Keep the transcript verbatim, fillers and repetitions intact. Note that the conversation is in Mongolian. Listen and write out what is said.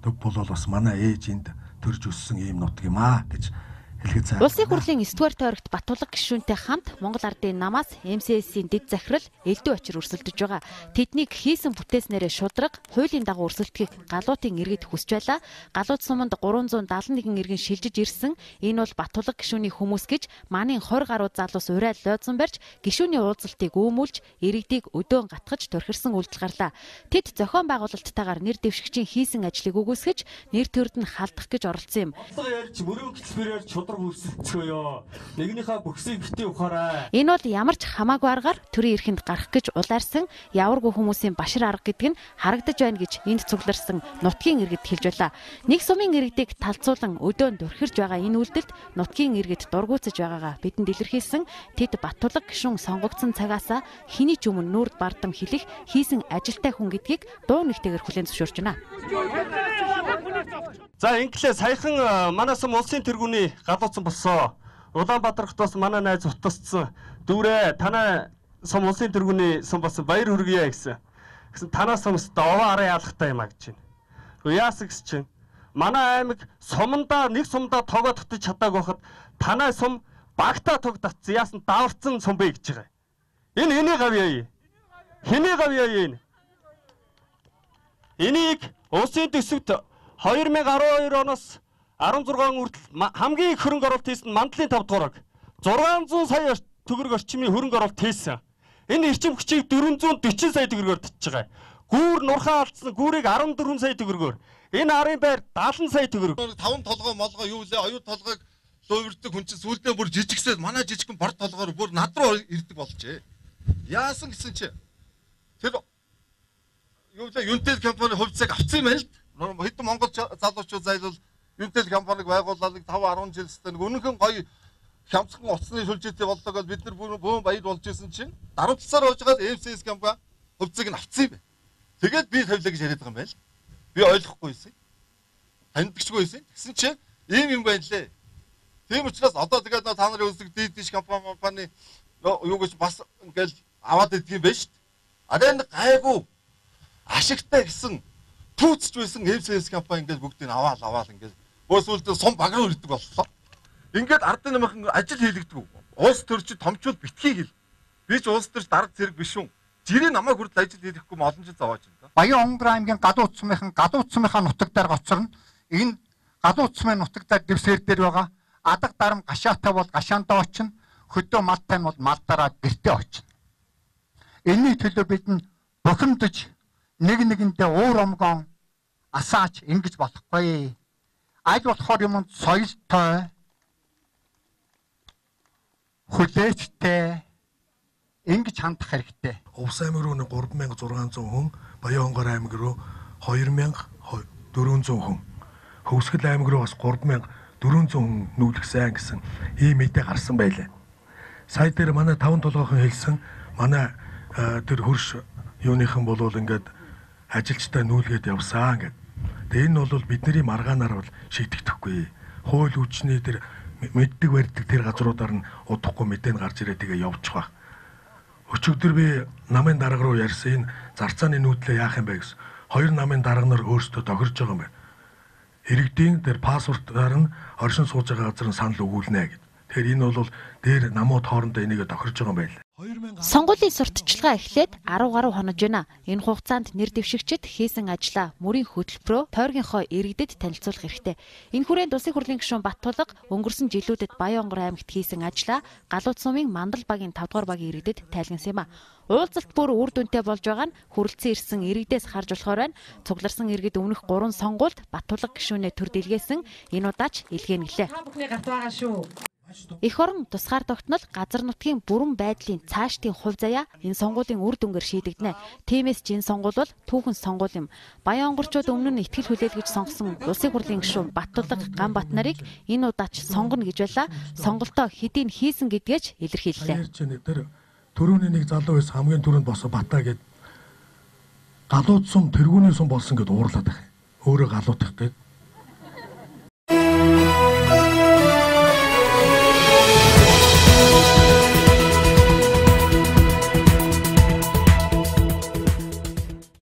төв бол бас манай ээж энд төрж өссөн ийм нутг юм аа гэж хэлгээд. Улсын хурлын эсдүгээр тойрогт Баттулга гишүүнтэй хамт Монгол Ардын намаас эм эс эс-ийн дэд захирал элдв очир өрсөлдөж байгаа. Тэднийг хийсэн бүтээснээрээ шудраг, хуулийн дагуу өрсөлдөхийг галуутын иргэд хүсч байлаа. Галууд суманд гурван зуун даалан нэгэн иргэн шилжиж ирсэн. Энэ бол Баттулга гишүүний хүмүүс гэж манын хорь гаруй залуус урай лойдсон барьж гишүүний уулзалтыг үүмүүлж иргэдийг өдөөн гатгаж төрхирсэн үйлдэл гарлаа. Тэд зохион байгуулалттайгаар нэр дэвшигчийн хийсэн ажлыг үгүйсгэж нэр төрд нь халдах гэж оролцсон юм. Нэгнийхээ бүхсийг бити ухаарай. Энэ бол ямар ч хамаагүй аргаар төрийн эрхэнд гарах гэж улаарсан яваргүй хүмүүсийн башир арга гэдэг нь харагдаж байна гэж энд цугларсан нутгийн иргэд хэлж байлаа. Нэг сумын иргэдийг талцуулан өдөөн дөрхирж байгаа энэ үйлдэлд нутгийн иргэд дургуутсаж байгаагаа бидэнд илэрхийлсэн. Тэд Баттулга гишүүн сонгогдсон цагаасаа хэний ч өмнө нүүрд бардам хэлэх хийсэн ажилтай хүн гэдгийг дуу нэгтэйгээр хүлээн зөвшөөрч байна. За инглээ саяхан манай сум улсын тэргүүний галууцсан болсон. Улаанбаатар хотоос манай найз утасцсан. Дүүрээ танай сум улсын тэргүүний сум болсон баяр хүргье гэсэн. Гэсэн танаас сумс овоо араа яалахтай юм а гэж байна. Тэгвэл яасан гэж чинь манай аймаг сумандаа нэг сумдаа тоогоо татаж чадаагүй хахад танай сум багтаа тог татсан яасан даварцсан сум бэ гэж байгаа. Энэ хэний гавьяа юм? Хэний гавьяа юм? Энийг улсын төсөвт хоёр мянган арван хоёр оноос арван зургаан хүртэл хамгийн их хөрөнгө оруулалт хийсэн мандлын тав дугаарыг зургаан зуун сая төгрөг орчмын хөрөнгө оруулалт хийсэн. Энэ эрчим хүчийг дөрвөн зуун дөрвөн сая төгрөгөөр татж байгаа. Гүүр нурхаа алдсан гүүрийг арван дөрвөн сая төгрөгөөр. Энэ арын байр даалан сая төгрөг. таван толгой молгоо юу лээ оюу толгойг луувирдаг хүн чинь сүүлдээ бүр жижигсээд манай жижигхэн бор толгоор бүр над руу ирдэг болжээ. Яасан гэсэн чи тэр юу лээ Юнтэл компани хувьцааг авсан юм байна л. Хэдэн монгол залуучууд зайлвал Юнтэл компаниг байгууллаа тав арван жил өстэй нэг өнөхөн гоё хямцхан утасны сүлжээтэй болдог бол бид нар бүүн баяр болж исэн чинь даруй талаар болж байгаа эм эс эс компани хувьцааг нь авсан юм байна. Тэгээд би тавилаа гэж яриад байгаа юм байл. Би ойлгохгүй байсан. Таньдагчгүй байсан. Тэгсэн чинь ийм юм байна лээ. Тийм учраас одоо тэгээд та нарын үздэг дийдиш компани юу гэж бас ингээл аваад идэх юм байна шүү дээ. А энэ гайгүй ашигтай гэсэн түүцж байсан эм эс эс компани ингээд бүгдийг аваал аваал ингээд бөөсөлдөө сум баг руу ирдэг боллоо. Ингээд ардын намхан ажил хийлэгдэг. Улс төрчид томчууд битгий хэл. Би ч улс төрч дарга зэрэг биш үү. Жирийн намайг хүртэл ажил хийхгүй олон жил зовоож байна. Баян Онгор аймгийн Галууц сумынхан Галууц сумынхаа нутаг дээр гоцорно. Энэ Галууц сумын нутаг дээр дэвсгэр дээр байгаа адаг дарам гашаатай бол гашаандаа очино. Хөдөө малтай нь бол малдаараа гэртээ очино. Энэний төлөө бид нь бухимдаж нэг нэгэндээ уур омгон асаач ингэж болохгүй. Аль болохоор юмд соёлтой хүлээцтэй ингэж хандах хэрэгтэй. Увс аймаг руу гурван мянга зургаан зуун хүн, Баян Онгор аймаг руу хоёр мянга дөрвөн зуун хүн, Хөвсгөл аймаг руу бас гурван мянга дөрвөн зуун хүн нүүлгсэн гэсэн ийм мэдээ гарсан байлаа. Сая дээр манай таван толгойхон хэлсэн манай тэр хөрш юуныхан болвол ингээд ажилчтай нүүлгээд явсаа ингээд. Тэгээ энэ бол бидний маргаанаар бол шийдэгдэхгүй. Хууль хүчний тэр мэддэг барьдаг тэр газруудаар нь удахгүй мэдэн гарч ирээ тэгээ явчих ба. Өчигдөр би намын дарга руу ярьсан энэ зарцааны нүүдлээ яах юм бэ гэсэн. Хоёр намын дарга нар өөрсдөө тохирж байгаа юм байна. Иргэдийн тэр паспортоор нь оршин сууж байгаа газар нь санал өгүүлнэ гэд. Тэгэхээр энэ бол дээр намууд хоорондоо энийг тохирж байгаа юм байна. Сонгуулийн сурталчилгаа эхлээд арав гаруй хонож байна. Энэ хугацаанд нэр дэвшигчид хийсэн ажлаа мөрийн хөтөлбөрөөр тойргийнхоо иргэдэд танилцуулах хэрэгтэй. Энэ хүрээнд улсын хурлын гишүүн Баттулга өнгөрсөн жилүүдэд Баян Онгор аймагт хийсэн ажлаа Галууц сумын Мандал багийн тавд дугаар багийн иргэдэд тайлгнасан юм а. Уулзалт бүр үр дүнтэй болж байгаа нь хүрэлцэн ирсэн иргэдээс харж болохоор байна. Цугларсан иргэд өмнөх гурван сонгуульд Баттулга гишүүнээ төр дэлгээсэн. Энэ удаач илгээнэ гэлээ. Эх орон тусгаар тогтнол газар нутгийн бүрэн байдлын цаашдын хувь заяа энэ сонгуулийн үр дүнгээр шийдэгдэнэ. Тиймээс ч энэ сонгуул бол түүхэн сонгуул юм. Баян онгорчууд өмнө нь итгэл хүлээлгэж сонгосон улсын хурлын гишүүн Баттулга Ганбат нарыг энэ удаач сонгоно гэж байлаа. Сонголтоо хэдийн хийсэн гэдгээч илэрхийллээ. Төрөүний нэг залуу байсан хамгийн түрүүнд босоо Батаа гээд галууд сум тэргүүний сум болсон гэд уурлаад байх. Өөрөө галуудах гээд